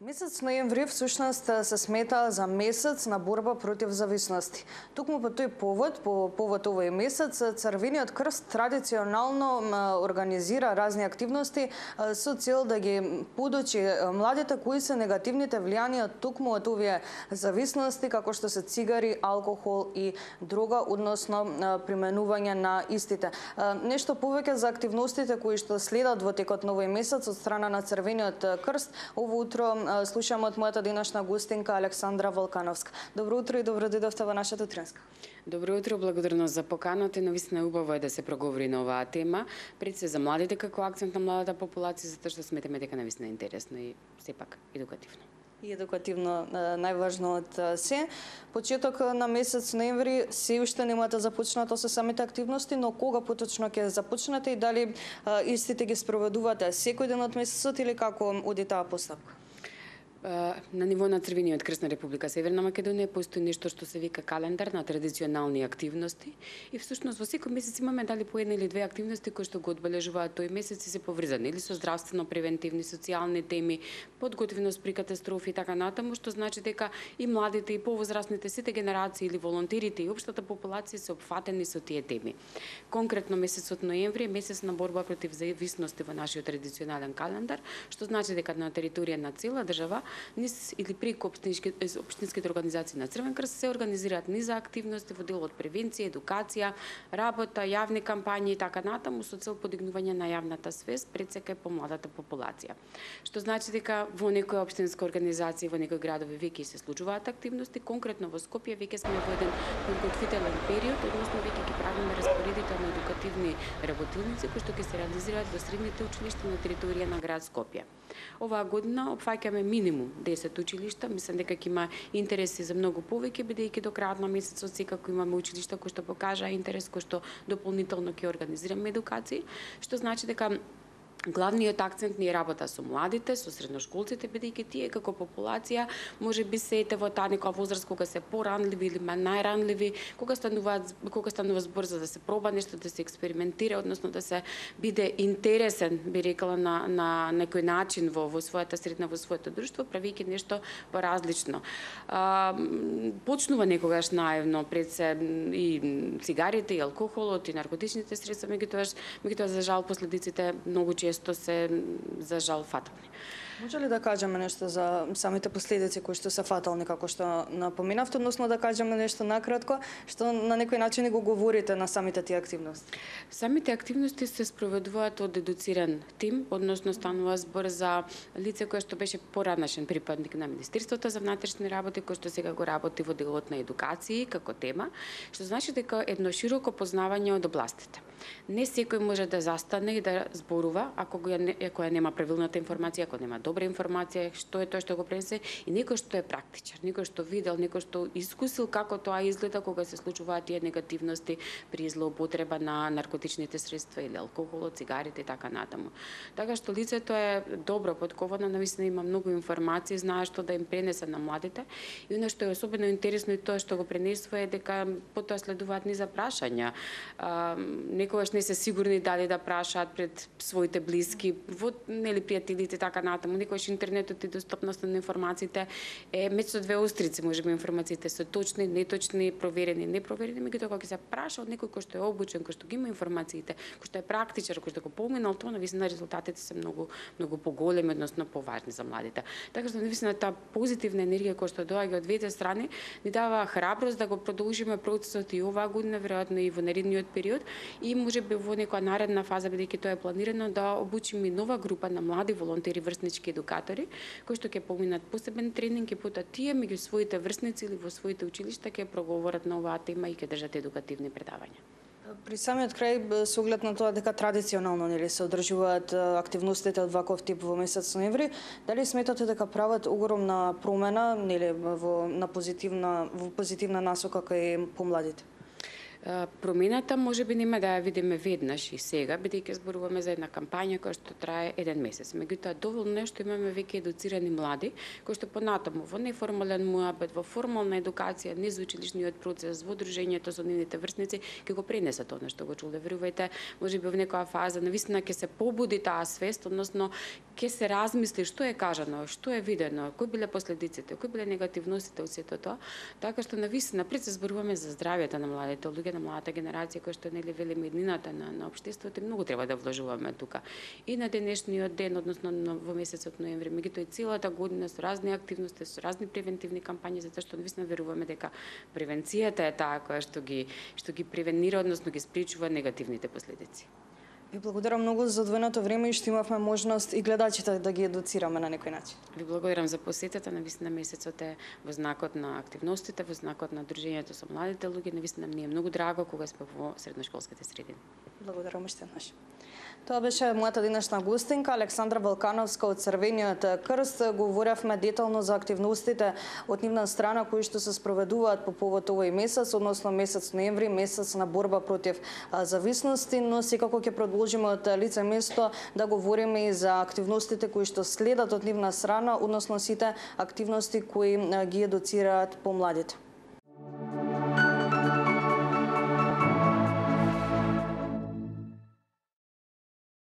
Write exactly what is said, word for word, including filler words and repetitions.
Месец ноември всушност се смета за месец на борба против зависности. Токму по тој повод, по повод овој месец, Црвениот крст традиционално организира разни активности со цел да ги подучи младите кои се негативните влијанија токму од овие зависности, како што се цигари, алкохол и дрога, односно применување на истите. Нешто повеќе за активностите кои што следат во текот на овој месец од страна на Црвениот крст, ово утро слушаме од мојата денешна гостинка Александра Волкановска. Добро утро и добро дојдовте во нашата утринска. Добро утро, благодарност за поканата. Навистина убаво е да се проговори на оваа тема, пред се за младите како акцент на младата популација, затоа што сметаме дека навистина е интересно и сепак едукативно. И едукативно најважно од се. Почеток на месец ноември се уште немате започнато со самите активности, но кога поточно ќе започнете и дали истите ги спроведувате секој ден од месецот или како оди таа постапка? На ниво на Црвениот крст на Република Северна Македонија постои нешто што се вика календар на традиционални активности и всушност во секој месец имаме дали по една или две активности кои што го одбележуваат тој месец и се поврзани или со здравствено превентивни, социјални теми, подготвеност при катастрофи и така натаму, што значи дека и младите и повозрастните, сите генерации или волонтерите и општата популација се опфатени со тие теми. Конкретно месецот ноември е месец на борба против зависности во нашиот традиционален календар, што значи дека на територија на цела држава низ или преку општинските организации на Црвен крст се организираат низа активности во дел од превенција, едукација, работа, јавни кампањи и така натаму со цел подигнување на јавната свест пред се кај помладата популација. Што значи дека во некои општински организации, во некои градови веќе се случуваат активности, конкретно во Скопје веќе сме во еден подготвителен период, односно веќе ги правиме распоредите на едукативни работилници кои што ќе се реализираат во средните училишта на територија на град Скопје. Оваа година опфаќаме минимум десет училишта, мислам дека ќе има интереси за многу повеќе, бидејќи до крајот на месецот секако имаме училишта кои што покажаа интерес, кои што дополнително ќе организираме едукации, што значи дека главниот акцент ни е работа со младите, со средношколците, бидејќи тие како популација може би се ете во таа некоја возраст кога се поранливи или најранливи, кога стануваат кога станува збор за да се проба нешто, да се експериментира, односно да се биде интересен, би рекла на на некој начин во во својата средина, во своето друштво, правејќи нешто поразлично. А, почнува некогаш наивно пред се и цигарите, и алкохолот, и наркотичните средства, меѓутоа меѓутоа за жал последиците многу често се за жал фатални. Може ли да кажеме нешто за самите последици кои што се фатални, како што напоменавте, односно да кажеме нешто накратко, што на некој начин го говорите на самите тие активности? Самите активности се спроведуваат од едуциран тим, односно станува збор за лице кое што беше поранашен припадник на Министерството за внатрешни работи, кој што сега го работи во делот на едукација како тема, што значи дека едно широко познавање од областите. Не секој може да застане и да зборува ако го ако нема правилната информација, ако нема добра информација, што е тоа што го пренесе, и некој што е практичар, некој што видел, некој што искусил како тоа изгледа кога се случуваат тие негативности при злоупотреба на наркотичните средства или алкохолот, цигарите и така натаму. Така што лицето е добро подковано, навистина има многу информации, знае што да им пренесе на младите, и она што е особено интересно и тоа што го пренесува е дека потоа следуваат низа прашања. А, некогаш не се сигурни дали да прашаат пред своите блиски, во нели пријателите така натаму. Некогаш интернетот и достапноста на информациите е меѓу две острици, можеби информациите се точни, неточни, проверени, непроверени, меѓутоа кога ќе се праша од некој кој што е обучен, кој што ги има информациите, кој што е практичар, кој што го поминал тоа, навистина резултатите се многу многу поголеми, односно поважни за младите. Така што навистина таа позитивна енергија која што доаѓа од двете страни ни дава храброст да го продолжиме процесот и оваа година, веројатно и во наредниот период, и можеби во некоја наредна фаза, бидејќи тоа е планирано, да обучиме нова група на млади волонтери, врснички едукатори, кои што ќе поминат посебен тренинг и потоа тие меѓу своите врсници или во своите училишта ќе проговорат на оваа тема и ќе држат едукативни предавања. При самиот крај, со оглед на тоа дека традиционално нели се одржуваат активностите од ваков тип во месец ноември, дали сметате дека прават огромна промена нели во на позитивна во позитивна насока кај помладите? Промената може би нема да ја видиме веднаш и сега, бидејќи зборуваме за една кампања која што трае еден месец. Меѓутоа, доволно е што имаме веќе едуцирани млади, кои што понатаму во неформален муабет, во формална едукација, низ училишниот процес, во дружењето со нивните врсници, ќе го пренесат она што го чуле. Верувајте, може би во некоја фаза навистина ќе се побуди таа свест, односно ќе се размисли што е кажано, што е видено, кои биле последиците, кои биле негативностите од сето тоа, така што навистина пред се зборуваме за здравјето на младите луѓе, на младата генерација која што нели велиме еднината на на општеството, и многу треба да вложуваме тука. И на денешниот ден, односно во месецот ноември, меѓутоа и целата година со разни активности, со разни превентивни кампањи, затоа што навистина веруваме дека превенцијата е таа која што ги што ги превенира, односно ги спречува негативните последици. Ви благодарам многу за одвоеното време и што имавме можност и гледачите да ги едуцираме на некој начин. Ви благодарам за посетата. Навистина месецот е во знакот на активностите, во знакот на дружењето со младите луѓе. Навистина ми е многу драго кога сме во средношколските средини. Благодарам уште еднаш. Тоа беше мојата денешна гостинка Александра Балкановска од Црвениот крст. Говоревме детално за активностите од нивна страна кои што се спроведуваат по повод овој месец, односно месец ноември, месец на борба против зависности, но секако ќе продолжиме од лице место да говориме и за активностите кои што следат од нивна страна, односно сите активности кои ги едуцираат помладите.